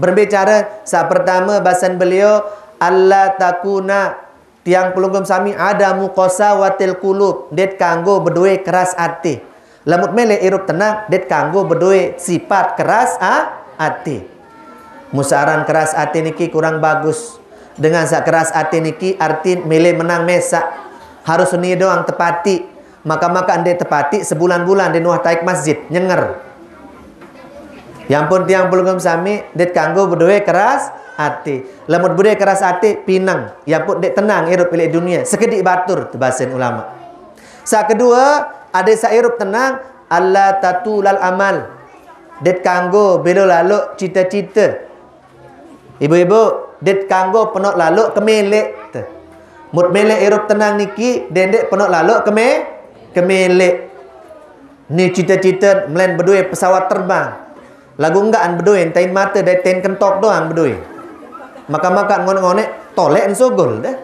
Berembe care? Saq pertame basen beliau, "Alla takuna," tiang pelungguh sami, "adamu qasawatil qulub," ndeq kanggo bedoe keras ate. Lamun mele irup tenang, ndeq kanggo bedoe sipat keras a-, ate. Mun saq aran keras ate niki kurang bagus. Dengan saq keras ate niki artin mele menang mesaq. Harus nie doang tepatiq. Maka-maka ndeq tepatiq sebulan-bulan ndeqn uah taek masjid, nyenger. Ya ampun tiang pelungguh sami, ndeq kanggo bedoe keras ate. Lamun bedoe keras ate, pineng. Ya ampun ndeq tenang irup eleq dunie. Sekediq batur, tebasen ulama. Saq kedue, adeq saq irup tenang, alla tatulal amal. Ndeq kanggo belo laloq cite-cite. Ibu-ibu, ndeq kanggo penoq laloq kemeleq. Te. Mut meleq irup tenang niki, ndeq-ndeq penoq laloq keme-, kemeleq. Ni cita-cita melain bedue pesawat terbang. Lagu enggak an bedue, tain mata dai tain kentok doang bedue. Maka-maka ngonek-ngonek tolek ensugul deh.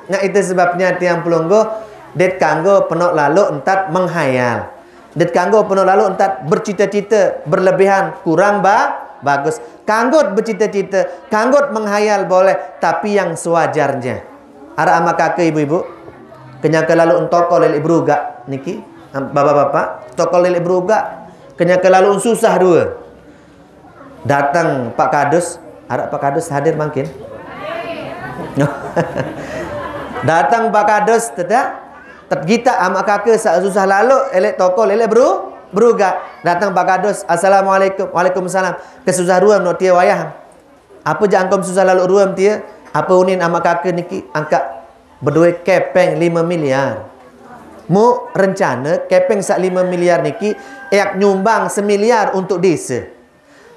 Nah, itu sebabnya tiang pelungguh, det kanggo penok lalu entat menghayal. Det kanggo penok lalu entat bercita-cita berlebihan, kurang ba bagus. Kanggot bercita-cita, kanggot menghayal boleh, tapi yang sewajarnya. Araq amaq kake ibu-ibu, kenyake lalu entokol leq berugaq niki, bapak-bapak, tokol leq berugaq, kenyake lalu susah due. Dateng Pak Kadus, araq Pak Kadus hadir mangkin? Dateng Pak Kadus, tetak, tet gitaq amaq kake saq susah lalu, eleq tokol, eleq beru-, berugaq. Dateng Pak Kadus, "Assalamualaikum." "Waalaikumsalam." "Kesusah rue menoq tie wayah." "Ape jaq angkom susah lalu rue tie?" "Ape unin amaq kake niki angkaq bedoe kepeng lime miliar. Muq rencane kepeng saq lime miliar niki eak nyumbang semiliar untuk dese.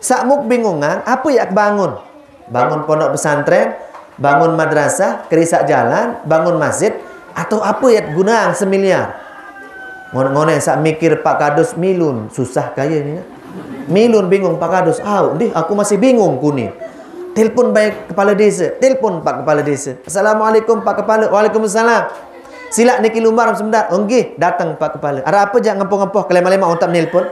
Saq muq bingungan, ape yaq bangun? Bangun pondok pesantren, bangun madrasah, kerisaq jalan, bangun masjid, atau ape yaq guneang semiliar?" Ngonek-ngonek saq mikir Pak Kadus milun, susah kaye ni. Milun bingung Pak Kadus, "Au, ndih aku masih bingung kuni." Telepon bae kepala desa, telepon Pak Kepala Desa. "Assalamualaikum Pak Kepala." "Waalaikumsalam." "Silaq niki lumbar sebentar." "Oh nggih, dateng Pak Kepala." "Araq ape jaq ngempoh-ngempoh kelemaq-lemaq ontaq nelpon?"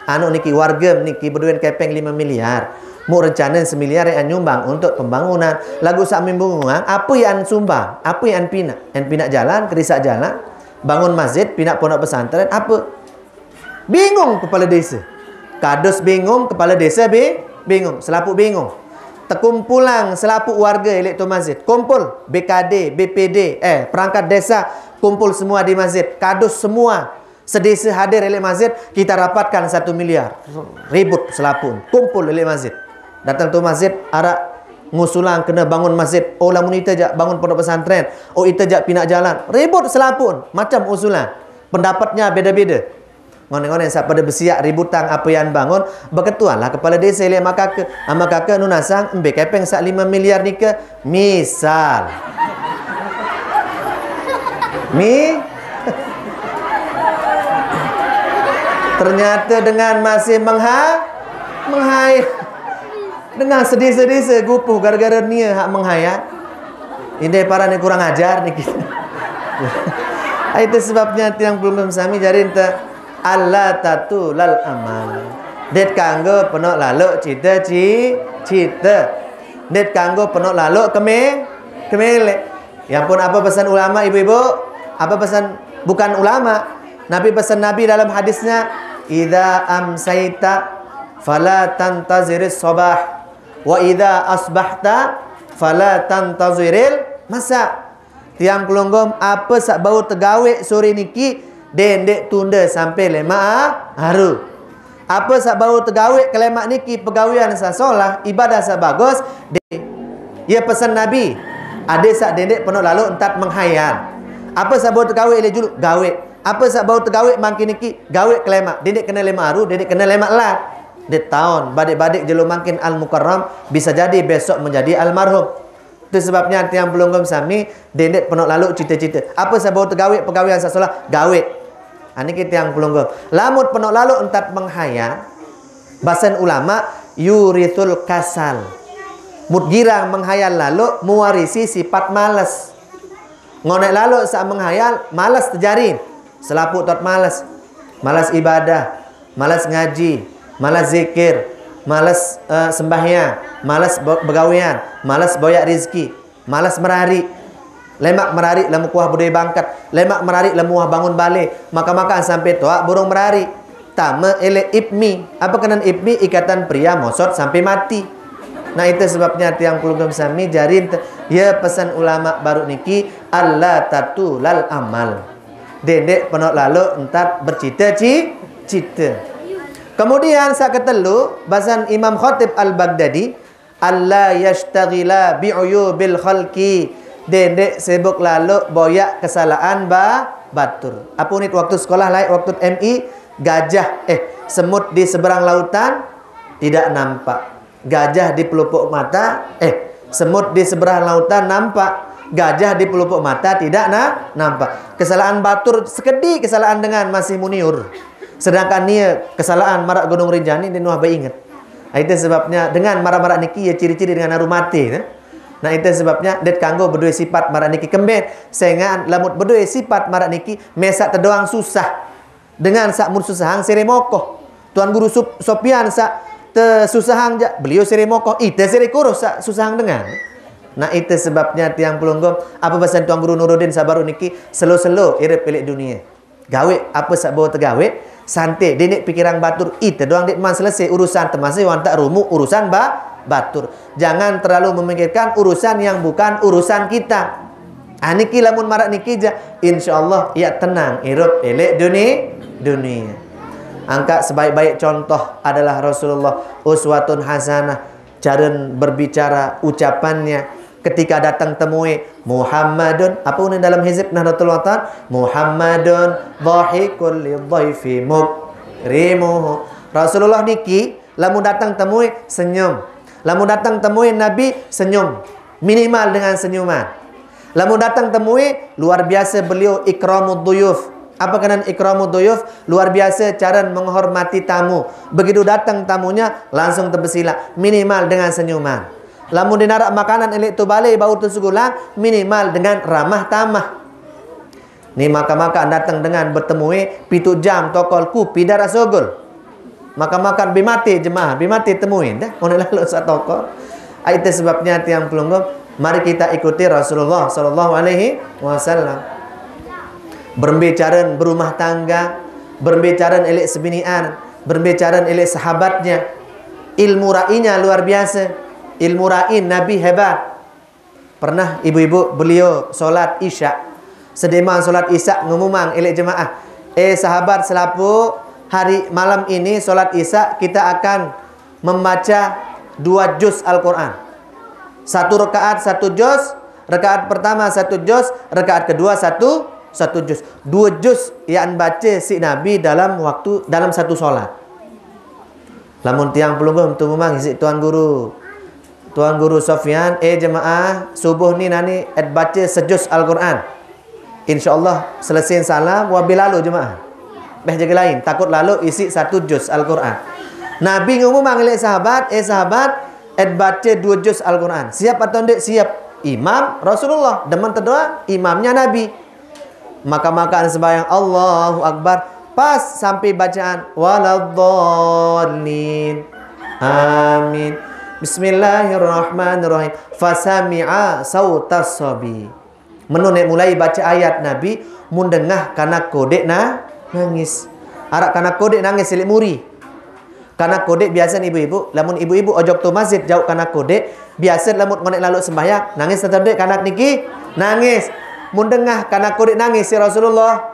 "Anu niki, warge niki beduen kepeng lime miliar. Muq rencane semiliar yaq nyumbang untuk pembangunan. Laguq saq mimbungang, ape yaq sumbang? Ape yaq pinaq? En pinaq jalan, kerisaq jalan, bangun masjid, pinaq pondok pesantren, ape?" Bingung kepala desa. Kadus bingung, kepala desa bi-, bingung, selapuq bingung. Tekumpulang selapuq warge leq to masjid. Kumpul, B K D, B P D, eh, perangkat desa, kumpul semua di masjid. Kadus semua. Sedese hadir leq masjid, "Kita rapatkan satu miliar." Ribut selapuq. Kumpul leq masjid. Dateng to masjid, araq ngusulang kene bangun masjid. "Oh, lamun ite jaq bangun pondok pesantren. Oh, ite jaq pinaq jalan." Ribut selapuq. Macem usulan. Pendapatnya beda-beda. Ngonek-ngonek saq pade besiaq ributang ape yaq bangun, beketuanlah kepala desa leq amaq kake. "Amaq kake nunasang embe kepeng saq lime miliar nike?" Misal. Mi-, ternyata dengan masih mengha-, menghai-, dengan sedih-sedih segupuh gara-gara nie hak menghayat. Inde parane kurang ajar niki. Itu sebabnya tiang pelungguh sami jari ente, "Allah tatulal amal." Det kanggo penok laluk cita ci-, cita. Det kanggo penok laluk keme-, kemele. Ya ampun, apa pesan ulama, ibu-ibu? Apa pesan, bukan ulama. Nabi, pesan Nabi dalam hadisnya, "Idza amsaita fala tantaziris sabah, wa idza asbahta fala tantaziril masa." Tiang pelungguh, apa saq bau tegaweq sore niki, dendeq tunde sampe lemaq a-, aru. Apa saq bau tegaweq kelemaq niki pegawean saq solah, ibadah saq bagus, de-, ye pesen Nabi, ade saq dendeq penok laluk entat menghayal. Apa saq bau tegaweq leq julu, gaweq. Apa saq bau tegaweq mangkin niki, gaweq kelemaq. Dendeq kene lemaq aru, dendeq kene lemaq lat. Detaun, badeq-badeq jelo mangkin Al-Mukarram, bisa jadi besok menjadi almarhum. Itu sebabnya tiang pelungguh sami, dendeq penok laluk cite-cite. Apa saq bau tegaweq pegawean saq solah, gaweq. Ha, niki tiang pelungguh. Lamun penok laluk entat menghayal, basen ulama, yurithul kasal. Mut girang menghayal laluk, mewarisi sifat males. Ngoneq laluk saq menghayal, males tejari. Selapuq tot males. Males ibadah, males ngaji, males zikir, males, eh, sembahyang, males be-, begawean, males boyaq rizki, males merariq. Lemaq merariq lemuq wah bedoe bangket, lemaq merariq lemuq wah bangun bale, maka-makaan sampe toaq burung merariq. Tame eleq ipmi. Apa kenen ipmi? Ikatan pria mosot sampe mati. Nah, itu sebabnya tiang pelungguh sami jari ente, ye pesen ulama baruq niki, "Allah tatulal amal." Dendeq penok laluk entat bercite ci-, cite. Kemudian saq ketelu, basen Imam Khatib Al-Baghdadi, "Allah yashtaghila bi'uyubil khalqi." Dendeq sibuk laluk boyaq kesalahan ba-, batur. Apa unit waktu sekolah laeq waktu M I? Gajah, eh, semut di seberang lautan tidak nampak. Gajah di pelupuk mata, eh, semut di seberang lautan nampak. Gajah di pelupuk mata tidak na-, nampak. Kesalahan batur sekediq, kesalahan dengan masih muniur. Sedangkan nia kesalahan maraq Gunung Rinjani, ndeq nuah beinget. Nah, itu sebabnya dengan maraq-maraq niki ye ciri-ciri dengan aru mate, ne? Nah, itu sebabnya ndeq kanggo bedoe sifat maraq niki. Kembeq? Sengaq lamun bedoe sifat maraq niki, mesaq tedoang susah. Dengan saq mun susahang sere mokoh. Tuan Guru Sup-, Sopyan saq tesusahang jaq, beliau sere mokoh, ite sere kuruh saq susahang dengan. Nah, itu sebabnya tiang pelungguh, apa basen Tuan Guru Nuruddin saq baruq niki, selo-selo irup leq dunie. Gaweq apa saq bau tegaweq, sante, dendeq pikirang batur, ite doang ndeqman selese urusan, termasuk wantaq rumuk urusan ba-, batur. Jangan terlalu memikirkan urusan yang bukan urusan kita. Ah, niki lamun maraq niki jaq, insyaallah yaq tenang irup leq duni-, dunie. Angkaq sebaik-baik contoh adalah Rasulullah, uswatun hasanah, cara berbicara, ucapannya. Ketika datang temue, Muhammadun, apa unin dalam hizib Nahdlatul Watan? Muhammadun dhahikul lidhaifi mukrimuhu. Rasulullah niki, lamun datang temue, senyum. Lamun datang temue Nabi, senyum. Minimal dengan senyuman. Lamun datang temue, luar biasa beliau ikramud duyuf. Apa kenan ikramud duyuf? Luar biasa cara menghormati tamu. Begitu datang tamunya, langsung tebesilaq. Minimal dengan senyuman. Lamun ndeq naraq makanan leq tebale bau tesugulang, minimal dengan ramah tamah. Ni makaq-makaq dateng dengan betemue pituq jam tokol kupi ndaraq sugul. Makaq-makaq bi mate jemaah, bi mate temue dah, ngoneq laloq saq tokol. Ai, itu sebabnya tiang pelungguh, mari kita ikuti Rasulullah sallallahu alaihi wasallam. Berembe caren berumah tangga, berembe caren leq sebinian, berembe caren leq sahabatnya. Ilmu ra'inya luar biasa. Ilmu ra'i Nabi hebat. Pernah ibu-ibu beliau solat Isya. Sediman solat Isya ngumumang leq jemaah, "Eh, sahabat selapuq, hari malam ini solat Isya kita akan membaca dua juz Al-Quran. Satu rakaat satu juz, rakaat pertama satu juz, rakaat kedua satu, satu juz." Dua juz yang bace siq Nabi dalam waktu, dalam satu solat. Lamun tiang pelungguh tumumang isiq Tuan Guru, Tuan Guru Sofyan, "Eh, jemaah, subuh ni nani et bace sejuz Al-Quran. Insyaallah selese salam, wabe laloq jemaah." Beh jage lain, takut laloq isiq satu juz Al-Quran. Nabi ngumumang leq sahabat, "Eh, sahabat, et bace dua juz Al-Quran. Siap atau ndeq?" "Siap." Imam Rasulullah, demen tedoang, imamnya Nabi. Makaq-makaq sembahyang Allahu Akbar, pas sampai bacaan waladdallin. Amin. Bismillahirrahmanirrahim. Fasami'a sautas sabi. Menu neq mulai bace ayat Nabi, mun dengah kanak kodeq na-, nangis. Araq kanak kodeq nangis leq muri. Kanak kodeq biasen ibu-ibu, lamun ibu-ibu ojok to masjid jauq kanak kodeq, biasen lamun ngoneq laloq sembahyang, nangis tetep ndeq kanak niki? Nangis. Mun dengah kanak kodeq nangis siq Rasulullah,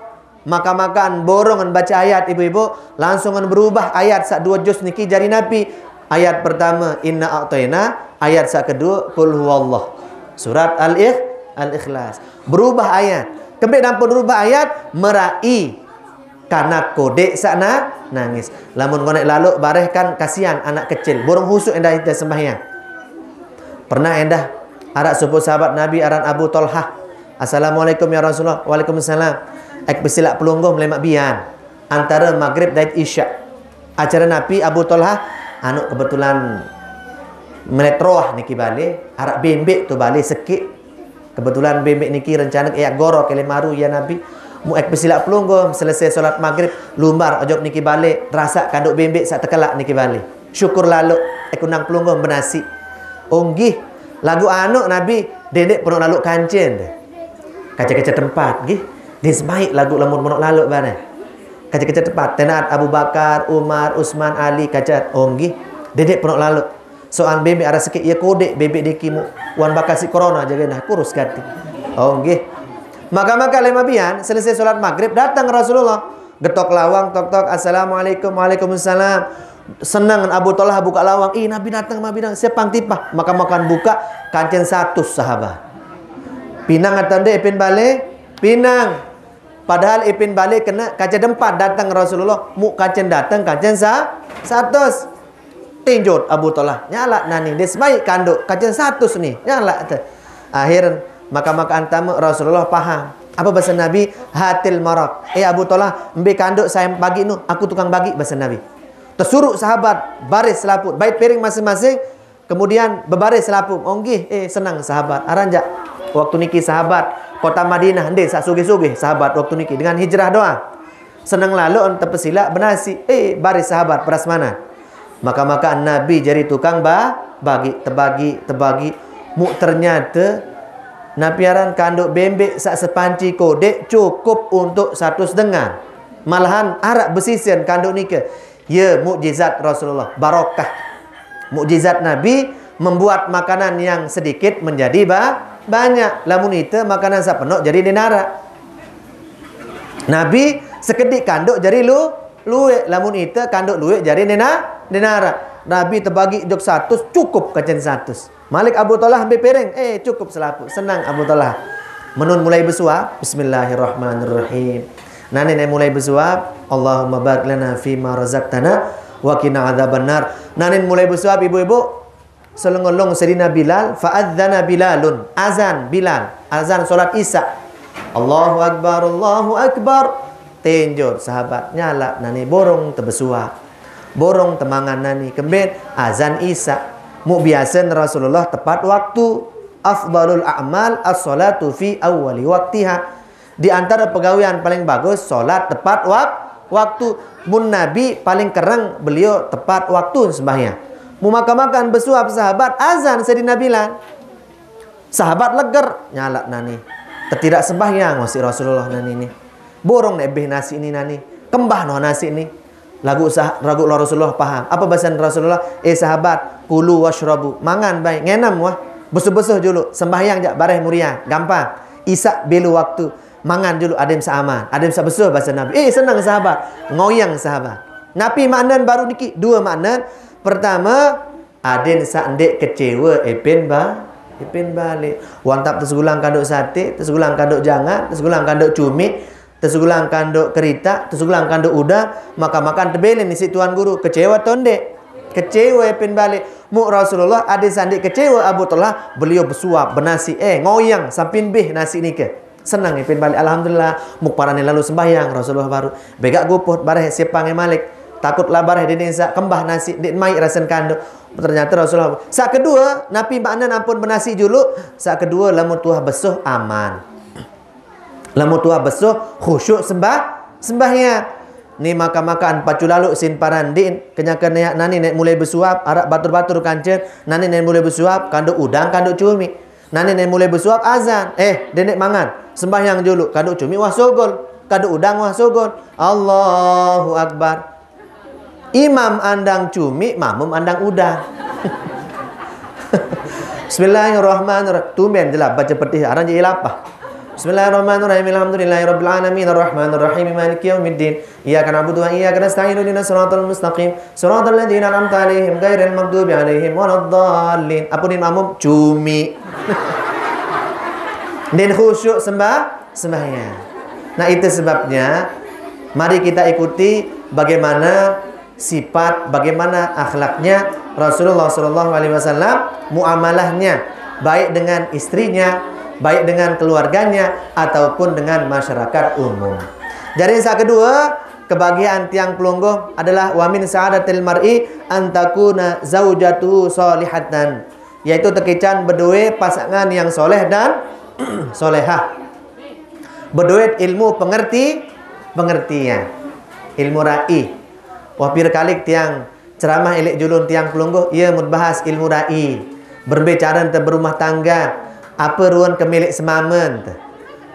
makaq-makaq borongan bace ayat ibu-ibu, langsungan berubah ayat saq due juz niki jari Nabi. Ayat pertame, Inna a'thaina, ayat saq kedue, Qul huwallah. Surat Al-Ikh-, Al-Ikhlas. Berubah ayat. Kembeq nampun berubah ayat? Merai kanak kodeq saq na-, nangis. Lamun ngoneq laloq bareh kan kasihan anak kecil. Burung husuk endah ite sembahyang. Pernah endah araq sopoq sahabat Nabi aran Abu Tolhah. "Assalamualaikum ya Rasulullah." "Waalaikumsalam." "Ek pesilaq pelungguh melemaq bian antare Maghrib dait Isya." Acare Nabi, Abu Tolhah, anu, kebetulan melet roah niki bale, araq bembeq to bale sekeq. Kebetulan bembeq niki rencane eaq goroq kelemaru, ya Nabi. Muq ek pesilaq pelungguh, selese solat Maghrib, lumbar ojok niki bale, rasaq kandoq bembeq saq tekelaq niki bale. Syukur laloq, ek undang pelungguh benasiq. Oh nggih, laguq anuq Nabi, dendeq penoq laloq kancen deh. Kace-kace tempat, nggih. Ndeq semaiq laguq lamun penoq laloq bareh. Kace-kace tempat, tenaat Abu Bakar, Umar, Usman, Ali, kace, oh nggih, dendeq penoq laloq. Soang bembeq araq sekeq, ye kodeq bembeq niki muq, wan bakasi corona jage nah, kurus gati. Oh nggih. Makaq-makaq lemaq bian, selese solat Maghrib, dateng Rasulullah. Getok lawang, tok, tok, "Assalamualaikum." "Waalaikumsalam." Seneng Abu Tolhah bukaq lawang, "Ih, Nabi dateng, Nabi dateng." Siap pang tipah. Makaq-makaq bukaq, kancen satus sahabat. Pinang atau ndeq ipin bale? Pinang. Padahal ipin bale kene kancen empat dateng Rasulullah, muq kancen dateng kancen sa-, satus. Tinjot Abu Tolhah, nyalaq nani, ndeq semaiq kandoq, kancen satus ni, nyalaq te. Akhir, makaq-makaq antame Rasulullah paham. Apa basa Nabi? Hatil maraq. Eh Abu Talhah, embe kanduk saya bagi nu, aku tukang bagi, basa Nabi. Tesuruh sahabat baris selaput, bait piring masing-masing, kemudian bebaris selaput. Onggih, eh senang sahabat. Aranjak waktu niki sahabat kota Madinah, ende sak sugih-sugih sahabat waktu niki dengan hijrah doang. Senang lalu on tepesilak benasi, eh baris sahabat prasmanan. Maka-maka Nabi jadi tukang ba, bagi, tebagi, tebagi. Muk ternyata Nabi aran kanduk bembek sak sepanci kodek cukup untuk satu setengah. Malahan arak besisen kanduk nika. Ya, mukjizat Rasulullah, barokah. Mukjizat Nabi membuat makanan yang sedikit menjadi ba, banyak. Lamun ite makanan sapenok jadi denara. Nabi sekedik kanduk jadi lu, luek, lamun ite kanduk luek jadi nena, denara. Nabi tebagi jok satus, cukup kacen satus. Malik Abu Talhah ambil piring, eh cukup selaput, senang Abu Talhah. Menun mulai besuap, Bismillahirrahmanirrahim. Nanin mulai besuap, Allahumma barik lana fima razaqtana wa qina adzabannar. Nanin mulai besuap ibu-ibu, selengolong Sayyidina Bilal, fa'adzana Bilalun, azan Bilal, azan salat Isya. Allahu Akbar, Allahu Akbar. Tenjot sahabat nyalak nani borong tebesuap. Borong temangan nani kembet azan Isya. Muk biasen Rasulullah tepat waktu. Afdalul a'mal as-salatu fi awwali waktiha. Di antara pegawean paling bagus, salat tepat wak, waktu. Mun Nabi paling kereng beliau tepat waktu sembahyang. Mu makan-makan besuap sahabat, azan Sayyidina Bilal. Sahabat leger, nyalak nani. Tetidak sembahyang masih Rasulullah nani ni. Borong nek beh nasi ni nani. Kembah no nasi ni. Lagu sah, lagu Rasulullah paham. Apa basan Rasulullah? Eh sahabat, kulu washrabu. Mangan bai, ngenem wah. Besuh-besuh julu, sembahyang jak bareh muria. Gampang. Isya belu waktu. Mangan julu adem seaman. Adem sebesuh basa Nabi. Eh senang sahabat. Ngoyang sahabat. Napi maknan baru niki? Dua maknan. Pertama, aden sak ndek kecewa epen ba, epen balik. Wantap tesegulang kanduk sate, tesegulang kanduk jangan, tesegulang kanduk cumi, tesegulang kanduk kerita, tesegulang kanduk uda, makan-makan tebelen isi tuan guru. Kecewa to ndek? Kecewa epen balik. Muk Rasulullah aden sak ndek kecewa Abu Talhah, beliau besuap, benasi, eh ngoyang sampin beh nasi nike. Senang ipin balik, alhamdulillah. Muk parane lalu sembahyang, Rasulullah baru. Begak guput bareh sepang malik. Takutlah bareh dene sak kembah nasi, dek mai rasen kanduk. Ternyata Rasulullah. Sak kedua, napi maknan ampun benasi julu. Sak kedua, lamun tuah besuh aman. Lamun tuah besuh khusyuk sembah, sembahyang. Ni makan-makan pacu lalu sin paran din. Kenyang-kenyang nani nek mulai besuap, arak batur-batur kancen. Nani nek mulai besuap, kanduk udang, kanduk cumi. Nani nek mulai besuap azan, eh, denek mangan. Sembahyang julu, kanduk cumi wah sogol, kanduk udang wah sogol. Allahu Akbar. Imam andang cumi, makmum andang udang. Bismillahirrahmanirrahim. Tumben jelap baca petih, arang je ilapah. Bismillahirrahmanirrahim. Alhamdulillahirabbil alamin. Arrahmanirrahim. Maliki yaumiddin. Iyyaka na'budu wa iyyaka nasta'in. Ihdinas siratal mustaqim. Siratal ladzina an'amta 'alaihim ghairil maghdubi 'alaihim waladdallin. Apa ni makmum? Cumi. Din khusyuk sembah, sembahyang. Nah, itu sebabnya mari kita ikuti bagaimana sifat, bagaimana akhlaknya Rasulullah sallallahu alaihi wasallam, muamalahnya baik dengan istrinya, baik dengan keluarganya ataupun dengan masyarakat umum. Jadi yang kedua, kebahagiaan tiang pelungguh adalah wa min sa'adatil mar'i antakuna zaujatu solihatan, yaitu tekican berdua pasangan yang soleh dan solehah. Berdua ilmu pengerti, pengertian, ilmu ra'i. Wah pir kalik tiang ceramah elek julun tiang pelungguh, ia mut bahas ilmu ra'i. Berbicara tentang berumah tangga, apa ruan kemilik semamen te.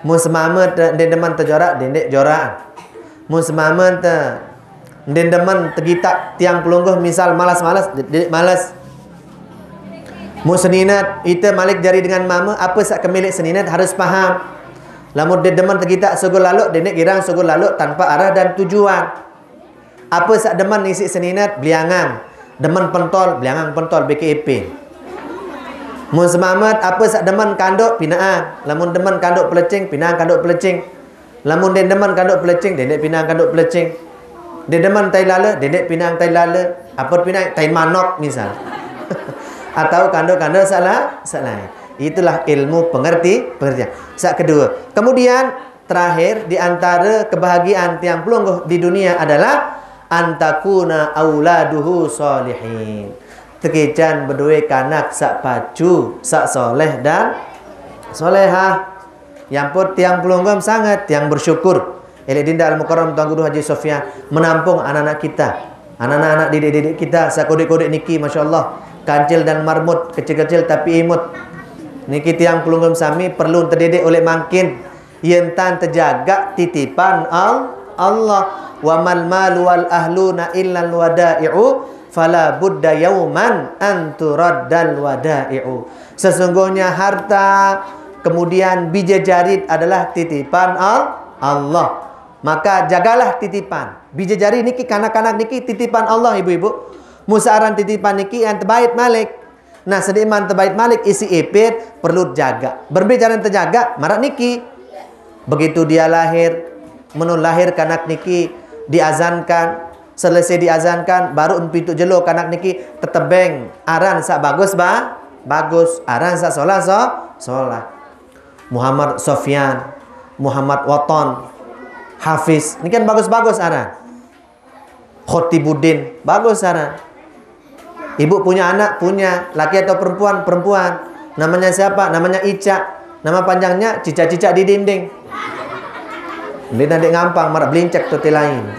Mun semamen te, dia demen terjorak, dia jorak. Mun semamen te, ndin demen tegitak tiang pelungguh, misal malas-malas, dedik malas. Mu seninat, ite malik jari dengan mama, apa sak kemilik seninat harus paham. Lamun dia demen tegitak sugul laluk, denek girang sugul laluk tanpa arah dan tujuan. Apa sak demen isi seninat, beliangang. Demen pentol, beliangang pentol B K P. Mun semamat, apa sak demen kanduk, pinaan. Lamun demen kanduk pelecing, pinaan kanduk pelecing. Lamun den demen kanduk pelecing, den dek pinang kanduk pelecing. Den demen tai lala, den dek pinang tai lala. Apa pinang? Tai manok misal. Atau kanduk-kanduk salah, salah. Itulah ilmu pengerti, pengertian. Sa kedua. Kemudian terakhir, di antara kebahagiaan tiang pelungguh di dunia adalah antakuna auladuhu salihin. Tekican berdua kanak sak pacu, sak soleh dan solehah. Yang pun tiang pelungguh sangat, tiang bersyukur. Elek Dinda Al-Mukarram Tuan Guru Haji Sofyan menampung anak-anak kita. Anak-anak didik-didik kita, sakodik-kodik niki, Masya Allah. Kancil dan marmut, kecil-kecil tapi imut. Niki tiang pelungguh sami perlu terdidik oleh mangkin. Yen tan terjaga titipan Al Allah. Wa mal malu wal ahluna illal wada'i'u fala budda yauman anturaddal wada'i'u. Sesungguhnya harta, kemudian bija jarit adalah titipan Al Allah. Maka jagalah titipan. Bija jari niki, kanak-kanak niki titipan Allah, ibu-ibu. Musaaran titipan niki yang terbaik malik. Nah, sediman terbaik malik isi ipit perlu jaga. Berbicara terjaga, marak niki. Begitu dia lahir, menun lahir kanak niki diazankan, selesai diazankan, baru empitu jelo kanak niki tetebeng aran sak bagus ba, bagus, aran sak solah so, solah. Muhammad Sofyan, Muhammad Waton, Hafiz. Ini kan bagus-bagus aran. Khotibuddin, bagus aran. Ibu punya anak, punya. Laki atau perempuan, perempuan. Namanya siapa? Namanya Ica. Nama panjangnya Cicak-cicak di dinding. Dia nanti ngampang, marak belincek tu lain.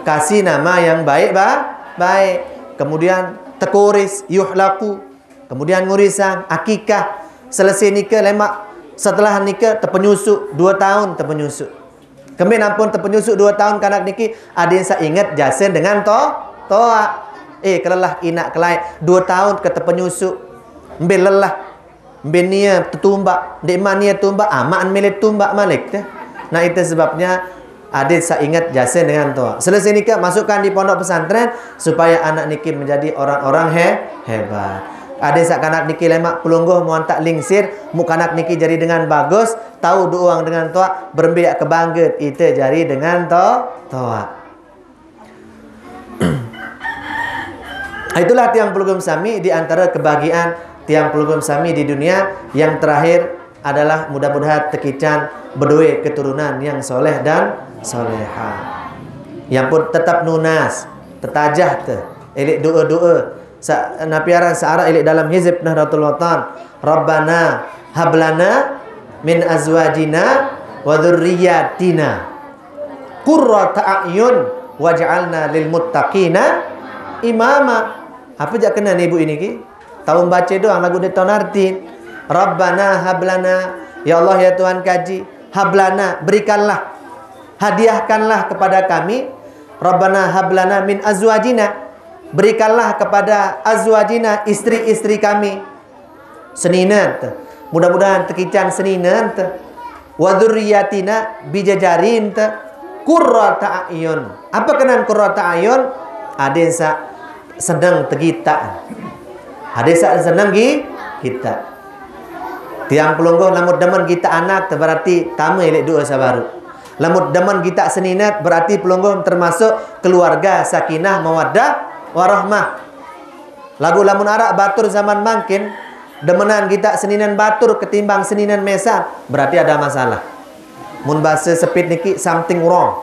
Kasih nama yang baik, ba, baik. Kemudian tekuris, yuhlaku. Kemudian ngurisang, akikah. Selesai nikah, lemak. Setelah nikah, terpenyusuk. Dua tahun terpenyusuk. Kembe nampun terpenyusuk dua tahun kanak niki, adin sa ingat jasen dengan to, toa. Eh, kelelah inak kelai. Dua tahun ke terpenyusuk. Mbe lelah. Mbe nia tetumbak. Dek ma nia tumbak, amak milih tumbak malik teh. Nah, itu sebabnya adin sa ingat jasen dengan toa. Selesai nikah, masukkan di pondok pesantren supaya anak niki menjadi orang-orang he, hebat. Adin sa kanak niki lemak pelungguh muantak lingsir, mu kanak niki jadi dengan bagus, tahu duang dengan toa, berembiak kebangget ite jari dengan to, toa. Itulah tiang pelungguh sami di antara kebahagiaan tiang pelungguh sami di dunia. Yang terakhir adalah mudah-mudahan tekican berdua keturunan yang soleh dan soleha. Yang pun tetap nunas, tetajah te, elik doa-doa. Sa, napi aran saarak elik dalam hizib Nahdlatul Watan. Rabbana hablana min azwajina wa dzurriyyatina qurrata a'yun waj'alna lil muttaqina imama. Apa jak kena ni ibu ini ki? Tahu baca doang lagu dia tahu arti. Rabbana hablana, ya Allah ya Tuhan kaji, hablana, berikanlah, hadiahkanlah kepada kami, Rabbana hablana min azwajina, berikanlah kepada azwajina, istri-istri kami, seninen te. Mudah-mudahan tekican seninen te. Wa dzurriyyatina, bijajarin te. Qurrata a'yun. Apa kenan qurrata a'yun? Adin sa seneng tegita. Adin sa seneng gi kita. Tiang pelungguh lamun demen kita anak te berarti tama elik doa sabaru. Lamun demen kita seninet berarti pelungguh termasuk keluarga sakinah mawaddah warahmah. Lagu lamun arak batur zaman mangkin, demenan kita seninen batur ketimbang seninen mesan, berarti ada masalah. Mun bahasa sepit niki something wrong.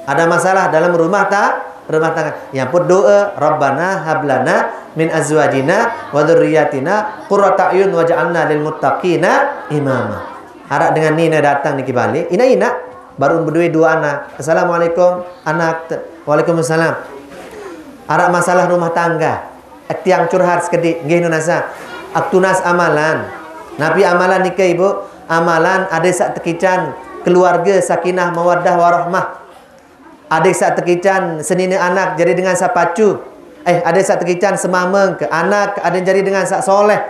Ada masalah dalam rumah ta, rumah tangga. Yang pun doa, Rabbana hablana min azwajina wa dzurriyyatina qurrata a'yun waj'alna lil muttaqina imama. Arak dengan nina datang niki balik, ina-ina baru berdua dua anak. Assalamualaikum, anak. Waalaikumsalam. Arak masalah rumah tangga. Tiang curhat sekedik, nggih Nun Asa. Ak tunas amalan. Napi amalan nika ibu? Amalan ada sak tekican keluarga sakinah mawaddah warahmah. Ada sak tekican senina anak jadi dengan sak pacu. Eh, ada sak tekican semameng ke anak ada jadi dengan sak soleh.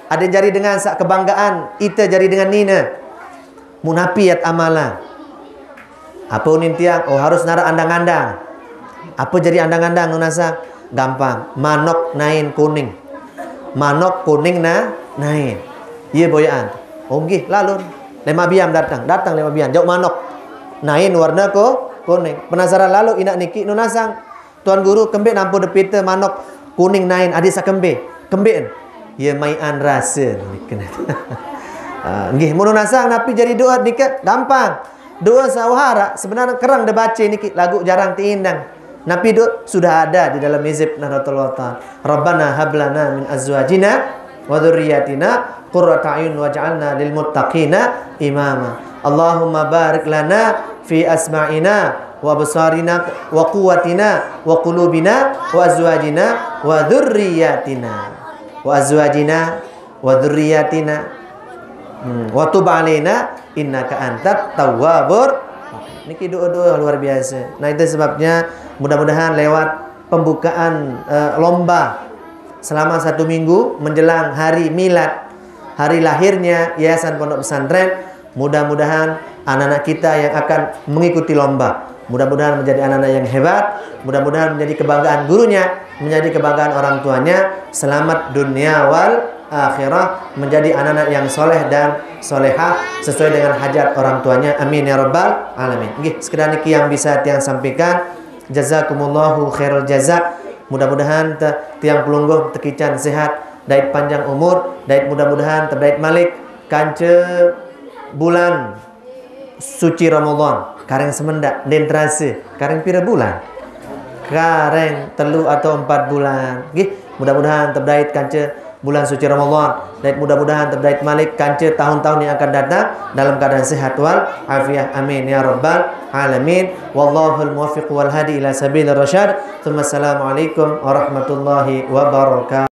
Ada jadi dengan sak kebanggaan, ita jadi dengan nina. Munapiat amalan. Apa unin tiang? Oh, harus narak andang-andang. Apa jadi andang-andang Nun Asa? Gampang. Manok nain kuning. Manok kuning na nain. Iya boyaan. Oh nggih, lalun. Lemak biam datang, datang lemak biam. Jauh manok. Nain warna ko kuning. Penasaran lalu inak niki Nun Asa. Tuan guru kembe nampu depita manok kuning nain adik sa kembe. Kembe. Ya maian rasa ni kena. Ah, nggih, mun nasang napi jadi doa niki gampang. Doa sawahara sebenarnya kerang dibaca niki lagu jarang tiindang. Napi doa sudah ada di dalam hizib Nahdlatul Watan. Rabbana hablana min azwajina wa dzurriyyatina qurrata a'yun waj'alna lil muttaqina imama. Allahumma barik lana fi asma'ina wa absarina wa quwwatina wa qulubina wa azwajina wa dzurriyyatina. Wa azwajina wa dzurriyyatina. Hmm, wa tub alaina innaka antat tawwabur. Niki doa-doa luar biasa. Nah, itu sebabnya mudah-mudahan lewat pembukaan eh, lomba selama satu minggu menjelang hari milad, hari lahirnya Yayasan Pondok Pesantren, mudah-mudahan anak-anak kita yang akan mengikuti lomba, mudah-mudahan menjadi anak-anak yang hebat, mudah-mudahan menjadi kebanggaan gurunya, menjadi kebanggaan orang tuanya, selamat dunia wal akhirah, menjadi anak-anak yang soleh dan solehah sesuai dengan hajat orang tuanya. Amin ya rabbal alamin. Nggih, sekedar niki yang bisa tiang sampaikan. Jazakumullahu khairul jaza. Mudah-mudahan te, tiang pelungguh tekican sehat, dait panjang umur, dait mudah-mudahan tebait malik kanca bulan suci Ramadan. Kareng semendak, den terasa. Kareng pira bulan? Kareng telu atau empat bulan. Nggih, mudah-mudahan tebait kanca bulan suci Ramadan. Dan mudah-mudahan tebait malik kanca tahun-tahun yang akan datang dalam keadaan sehat wal afiah. Amin ya rabbal alamin. Wallahul muwaffiq wal hadi ila sabilir rasyad. Tsumma assalamualaikum warahmatullahi wabarakatuh.